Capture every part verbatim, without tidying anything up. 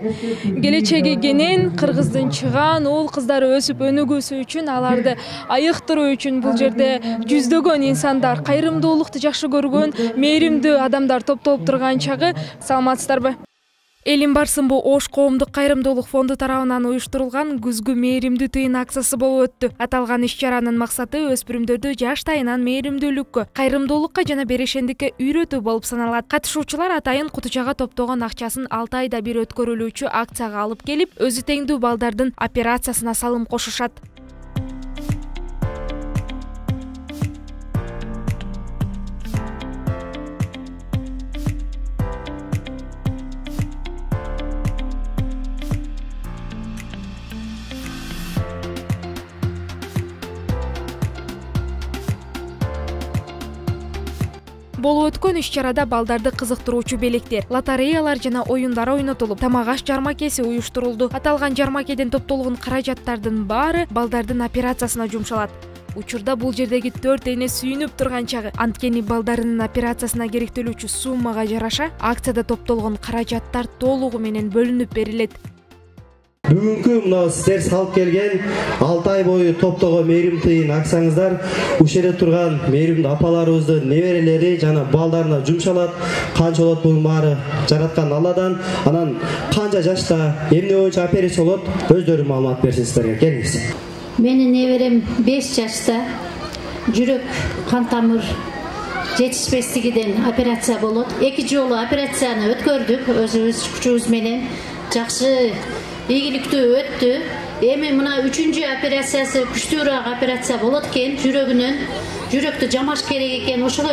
Келечеги кенен Кыргыздын чыгаан уул кыздары өсүп өнүгүүсү үчүн, аларды айыктыруу үчүн бул жерде жүздөгөн инсандар, кайрымдуулукту жакшы көргөн, мээримдүү адамдар топтолуп турган чагы. Саламатсыздарбы? Элим барсынбы Ош коомдук кайрымдуулук фонду тарабынан уюштурулган күзгү мээримдүү тыйын акциясы болуп өттү. Аталган иш-чаранын максаты өспүрүмдөрдү жаштайынан мээримдүүлүккө, кайрымдуулукка жана берешендикке үйрөтүү болуп саналат. Катышуучулар атайын кутучага топтогон акчасын алты айда бир өткөрүлүүчү акцияга алып келип, өзү теңдүү балдардын операциясына салым кошушат. Болуп өткөн иш-чарада балдарды кызыктыруучу белектер, лотереялар жана оюндар ойнотулуп, тамак аш жармакеси уюштурулду. Аталган жармакеден топтолгон каражаттардын баары балдардын операциясына жумшалат. Учурда бул жердеги төрт эне сүйүнүп турган чагы. Анткени балдарынын операциясына керектелүүчү суммага жараша акцияда топтолгон каражаттар толугу менен бөлүнүп берилет. Бүгүнкү мына сиздер салып келген алты ай бою топтогон мээрим тыйын акцияңыздар ушул жерде турган мээримдүү апаларыбыздын неберелери жана балдарына жумшалат. Канча болот бунун баары жараткан Алладан. Анан канча жашта эмне боюнча операция болот, өздөрү маалымат берсин сиздерге. Келиңиз. Менин неберем беш жашта жүрөк кан тамыр жетишпестигиден операция болот. Эки жолу операцияны өткөрдүк өзүбүз күчүбүз менен. Жакшы ийгиликтүү өттү. Эми мына үчүнчү операциясы күчтүүрөөк операция болот экен. Жүрөгүнөн жүрөктү жамаш керек экен. Ошого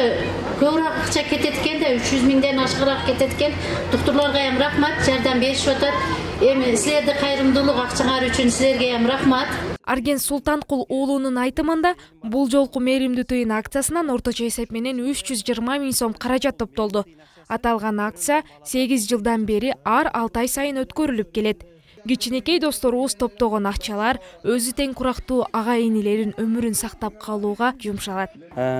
көбүрөөк акча кетет экен да, үч жүз миңден ашыгыраак кетет экен. Доктурларга ham рахмат, жардам беришип атат. Эми силерди кайрымдуулук акчаңар үчүн силерге ham рахмат. Арген Султанкул уулунун айтымында бул жолку мээримдүү тыйын акциясынан орточо эсеп менен үч жүз жыйырма миң сом каражат топтолду. Аталган акция сегиз жылдан бери ар алты ай сайын өткөрүлүп келет. Кичинекей досторубуз топтогон акчалар өзү тең курактуу ага-инилерин өмүрүн сактап калууга жумшалат.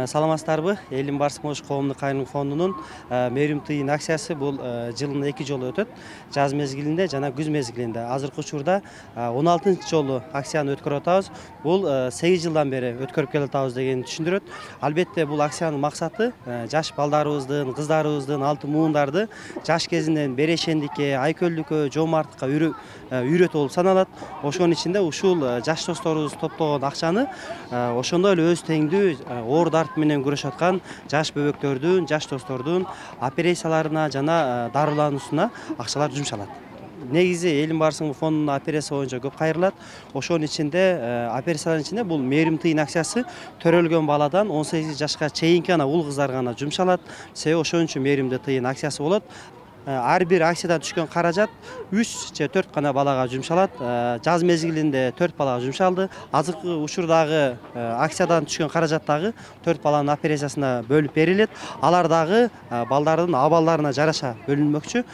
Саламатсыздарбы? Элим барсынбы Ош коомдук кайрымдуулук фондунун мээрим тыйын акциясы бул жылына эки жолу өтөт. Жаз мезгилинде жана күз мезгилинде. Азыркы учурда он алтынчы жолу акцияны өткөрүп атабыз. Бул сегиз жылдан бери өткөрүп келе атабыз дегенди түшүндүрөт. Албетте бул акциянын максаты жаш балдарыбыздын, кыздарыбыздын, алтын муундарды жаш кезинен берешендикке, айкөлдүккө, жоомарттыкка үйрөтүү болуп саналат. Ошонун ичинде ушул жаш досторубуз топтогон акчаны ошондой эле өз теңдүү оор дарт менен күрөшүп аткан жаш бөбөктөрдүн, жаш достордун операцияларына жана дарылануусуна акчалар жумшалат. Негизи Элим барсынбы фондунун операция боюнча көп кайрылат. Ошонун ичинде операциялардын ичинде бул мээрим тыйын акциясы төрөлгөн баладан он сегиз жашка чейинки ана уул кыздар гана жумшалат. Себеби ошон үчүн мээримдүү тыйын акциясы болот. Ар бир акциядан түшкөн каражат үч же төрт гана балага жумшалат. Жаз мезгилинде төрт балага жумшалды. Азыркы учурдагы акциядан түшкөн каражат дагы төрт баланын операциясына бөлүп берилет. Алар дагы балдардын абалдарына жараша бөлүнмөкчү.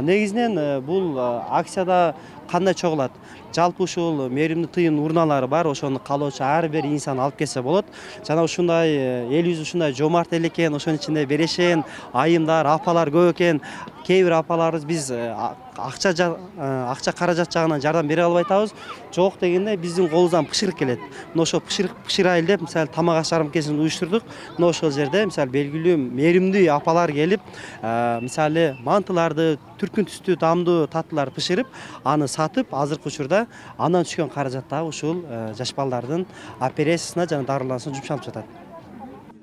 Негизинен бул акцияда кандай чогулат? Жалпы ушул мээримдүү тыйын урналары бар, ошону каалоочу ар бир инсан алып келсе болот. Жана ушундай элибиз ушундай жоомарт эл экен, ошонун ичинде берешен, айымдар, апалар көп экен. Кээ бир апаларыбыз биз акча акча каражат жагынан жардам бере албай атабыз. Жок дегенде биздин колубуздан пышырык келет. Мына ошо пышырык пышырайлы деп мисалы тамак аш жармакесин уюштурдук. Мына ошол жерде мисалы белгилүү мээримдүү апалар келип, мисалы мантыларды, түркүн түстүү тамдуу таттуулар пышырып, аны сатып, азыркы учурда андан түшкөн каражат дагы ушул жаш балдардын операциясына жана дарылануусуна жумшалып жатат.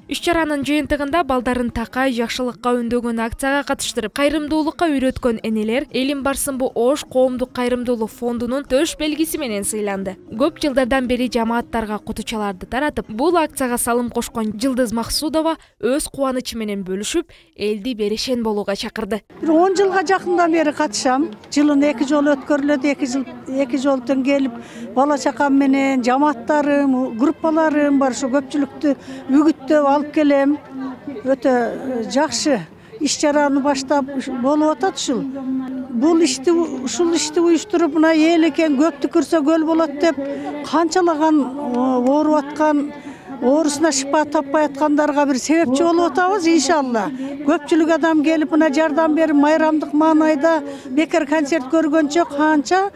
Иш-чаранын жыйынтыгында балдарын такай жакшылыкка үндөгөн акцияга катыштырып, кайрымдуулукка үйрөткөн энелер Элим барсынбы Ош коомдук кайрымдуулук фондунун төш белгиси менен сыйланды. Көп жылдардан бери жамааттарга кутучаларды таратып, бул акцияга салым кошкон Жылдыз Максудова өз кубанычы менен бөлүшүп, элди берешен болууга чакырды. он жылга жакындан бери катышам. Жылына эки жолу өткөрүлөт, эки жыл эки жолтон келип, бала чакам менен жамааттарым, группаларым бар, ошо көпчүлүктү үгүттөп алып келем. Өтө жакшы иш-чараны баштап болуп атат ушул. Бул ишти ушул ишти уюштуруп, мына эл экен көптү көрсө көл болот деп канчалаган ооруп аткан оорусуна шифа таппай аткандарга бир себепчи болуп атабыз иншалла. Көпчүлүк адам келип мына жардам берип майрамдык маанайда бекер концерт көргөнчө канча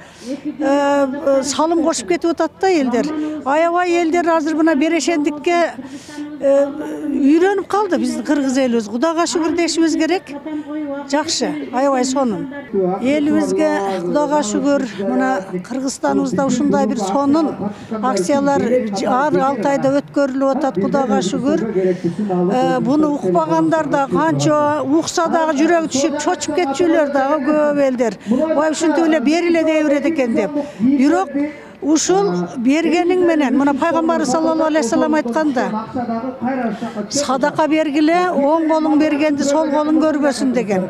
салым кошуп кетип атат да элдер. Аябай элдер азыр мына берешендикке үйрөнүп калды биздин кыргыз элибиз. Кудайга шүгүр дешибиз керек. Жакшы, аябай сонун. Элибизге Кудайга шүгүр мына Кыргызстаныбызда ушундай бир сонун акциялар ар алты айда өткөрүлүп атат. Кудайга шүгүр. Буну укпагандар да канча укса дагы жүрөгү түшүп чочуп кетчүлөр дагы көп элдер. Ой ушинтип эле бериле дей берет экен деп. Бирок ушул бергениң менен мына пайгамбарыбыз саллаллаху алейхи вассалам айтканда садака бергиле, оң колуң бергенди сол колуң көрбөсүн деген.